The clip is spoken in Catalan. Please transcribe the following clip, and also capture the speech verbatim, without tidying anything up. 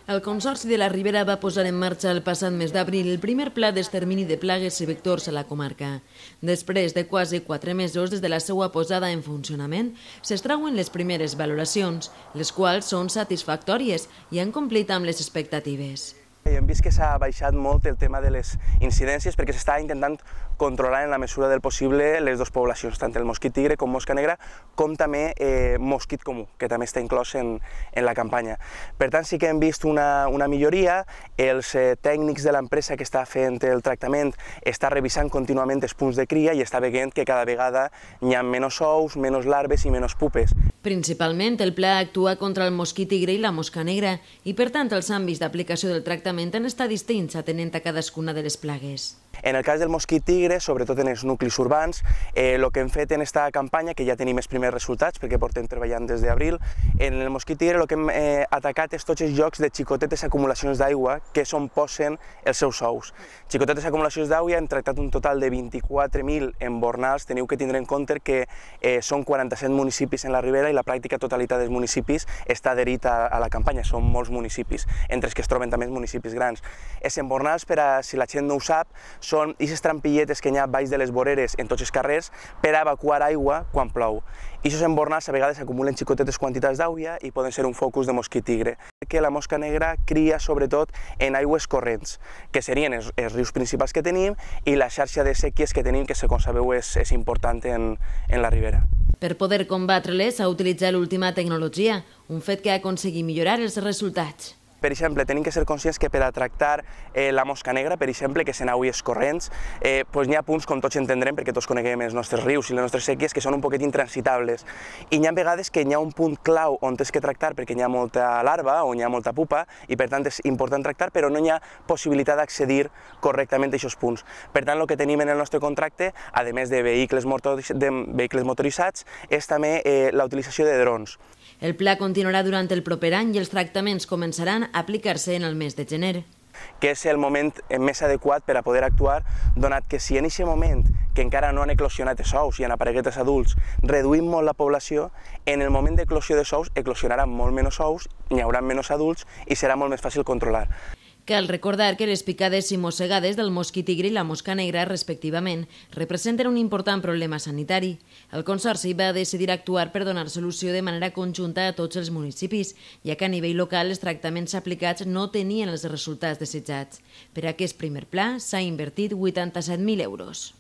El Consorci de la Ribera va posar en marxa el passat mes d'abril el primer pla d'extermini de plagues i vectors a la comarca. Després de quasi quatre mesos des de la seva posada en funcionament, s'extrauen les primeres valoracions, les quals són satisfactòries i han complit amb les expectatives. Hem vist que s'ha baixat molt el tema de les incidències perquè s'està intentant controlar en la mesura del possible les dues poblacions, tant el mosquit tigre com mosca negra, com també eh, mosquit comú, que també està inclòs en, en la campanya. Per tant, sí que hem vist una, una milloria. Els eh, tècnics de l'empresa que està fent el tractament està revisant contínuament els punts de cria i està veient que cada vegada hi ha menys ous, menys larves i menys pupes. Principalment, el pla actua contra el mosquit tigre i la mosca negra i, per tant, els àmbits d'aplicació del tractament han estat distints atenent a cadascuna de les plagues. En el cas del mosquit tigre, sobretot en els nuclis urbans, eh, el que hem fet en aquesta campanya, que ja tenim els primers resultats perquè portem treballant des d'abril, en el mosquit tigre el que hem eh, atacat és tots els llocs de xicotetes acumulacions d'aigua que és on posen els seus ous. Xicotetes acumulacions d'aigua hem tractat un total de vint-i-quatre mil embornals. Teniu que tindre en compte que eh, són quaranta-set municipis en la Ribera i la pràctica totalitat dels municipis està adherit a, a la campanya, són molts municipis, entre els que es troben també els municipis grans. Els embornals, per a, si la gent no ho sap, són aquestes trampilletes que hi ha baix de les voreres en tots els carrers per a evacuar aigua quan plou. I aquests embornals a vegades acumulen xicotetes quantitats d'aigua i poden ser un focus de mosquit tigre. Que la mosca negra cria sobretot en aigües corrents, que serien els, els rius principals que tenim i la xarxa de séquies que tenim, que com sabeu és, és important en, en la Ribera. Per poder combatre-les s'ha utilitzat l'última tecnologia, un fet que ha aconseguit millorar els resultats. Per exemple, tenim que ser conscients que per a tractar eh, la mosca negra, per exemple, que són aigües corrents, eh, doncs hi ha punts, com tots entendrem, perquè tots coneguem els nostres rius i les nostres séquies, que són un poquet intransitables. I hi ha vegades que hi ha un punt clau on tens que tractar perquè hi ha molta larva o hi ha molta pupa i per tant és important tractar, però no hi ha possibilitat d'accedir correctament a aquests punts. Per tant, el que tenim en el nostre contracte, a més de vehicles, de vehicles motoritzats, és també eh, la utilització de drons. El pla continuarà durant el proper any i els tractaments començaran a aplicar-se en el mes de gener. Que és el moment més adequat per a poder actuar, donat que si en aquest moment, que encara no han eclosionat els ous i han aparegut els adults, reduïm molt la població, en el moment d'eclosió dels ous eclosionaran molt menys ous, n'hi haurà menys adults i serà molt més fàcil controlar. Cal recordar que les picades i mossegades del mosquit tigre i la mosca negra, respectivament, representen un important problema sanitari. El Consorci va decidir actuar per donar solució de manera conjunta a tots els municipis, ja que a nivell local els tractaments aplicats no tenien els resultats desitjats. Per a aquest primer pla s'ha invertit vuitanta-set mil euros.